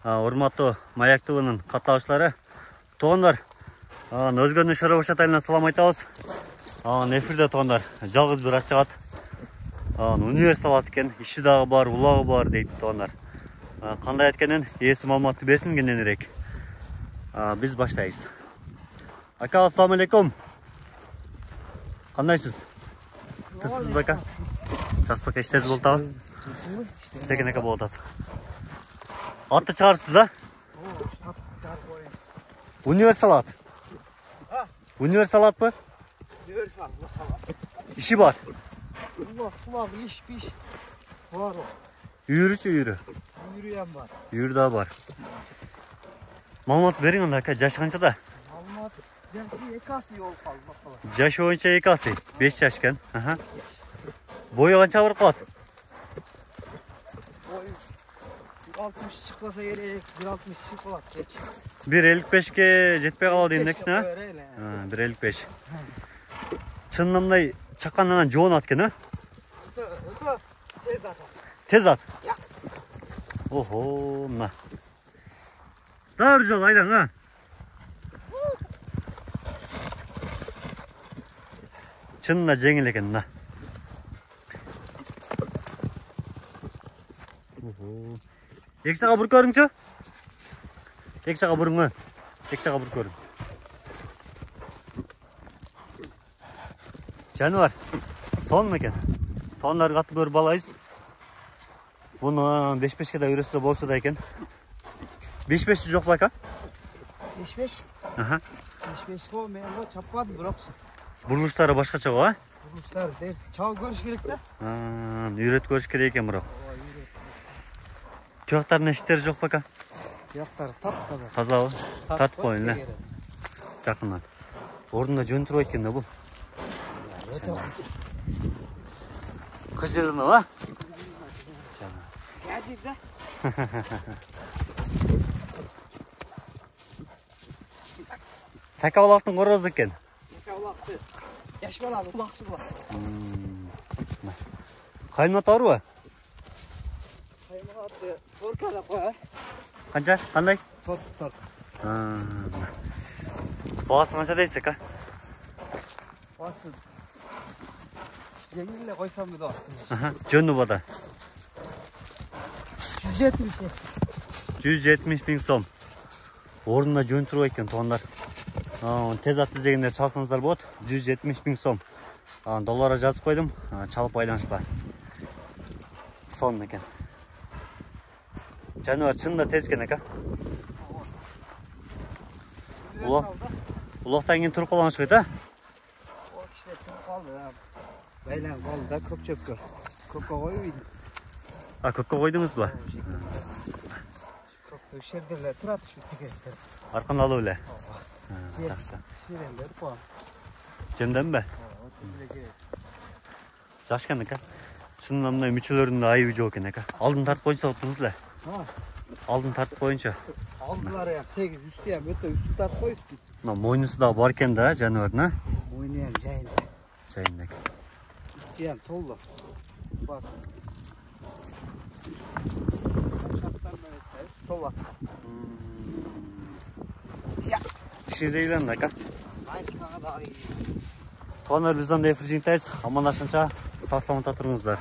Урматтуу Маяк ТВнын катталыштары. Туугандар, өзгөнүн Шоробош атайынан салам айтабыз. Эфирде туугандар, жалгыз бир ат чыгат. Универсал ат экен, иши дагы бар, улагы бар дейт туугандар. Кандай эткенин ээси маалыматты берсин кененирээк. Биз баштайбыз. Ака, ассаламу алейкум. Кандайсыз? Кызсыз ака? Жас бака иштесиз болуп атабы? Иштеген ака болуп атат. Атты чыгарсыз, а? Универсал ат. Универсал атпы? Универсал. Иши бар. Сулак, иш, пиш. Бар. Үйрүчү үйрү. Үйрү ham бар. Үйрү да бар. Маалымат бериң анда ака, жашы канчада? Маалымат жашы 2 асы болуп калды бакала. Жашы боюнча 2 асы, 5 жаш экен. Бою канча барып калат? 60 чыкпаса керек, 160 чыгып калат кеч. 1.55ке жетпей калат индексине, а? 1.55. Чынында мындай чаккандан жоон ат экен, а? Өтө тез ат. Тез ат? Охо, мына. Дагы бир жолу айдаң, а? Чынында жеңил экен, мына. Эки жака буруп көрүңчү? Эки жака буруң, эки жака буруп көрүң. Жаныбар, сонун экен. Туугандар катты көрүп алайбыз. Буну 5-5ке да үйрөтсө болчу да экен. 5-5 жок байка? 5-5. 5-5 го мен го чаппадым, бирок Бурулуштары башкача го, а? бурулуштар дерс чабып көрүш керек да. Үйрөтүп көрүш керек экен бирок. Жактардын эшиктери жок бака? Жактары тап-таза. Тазабы? Тартып коюн эле. Жакындан. Ордунда жөн турбайт экен да бул. Кыжырына, а? Гаджет да. Така балактын корозу экен. Така балакты. Жаш баланы улакчы булат. Каймат барбы? Кайматты торкада кой. Канча? Кандай? Тор. Баасы канча дейсиз ака? Баасы жеңил эле койсом да. Жөнү бада. 170 миң сом. Ордунда жөн турбайт экен туугандар. Тез ат издегендер чалсаңыздар болот. 170 миң сом. Долларга жазып койдум. Чалып байланышпа. Сонун экен. Жаныбар чынында тез экен ака. Улактан кийин туруп калган окшойт, а? О кишилер туруп калды. Байланып калды да көк чөпкө. Көккө койбойду. Көккө койдуңузбу? Көккө жерде эле турат ушу тегеректер. Аркан алып эле. Жакшы. Жерендер по. Жемденби? Жакшы экен ака. Чынында мындай мүчөлөрүндө айыбы жок экен ака. Алдын тартып койсо туруңуз эле. Алдын тартып коюнчу. Алдылары тегиз, үстү ham өтө үстү тартып коюшту. Мына мойнусу да бар экен да, жаныбардын, а? Мойну ham жайында. Жайында экен. Үстү ham толду. Бак. Тола. Иши зейлен ака. Айткага да. Туугандар, биз анда эфир жыйынтайбыз. Амандашканча сак саламатта туруңуздар.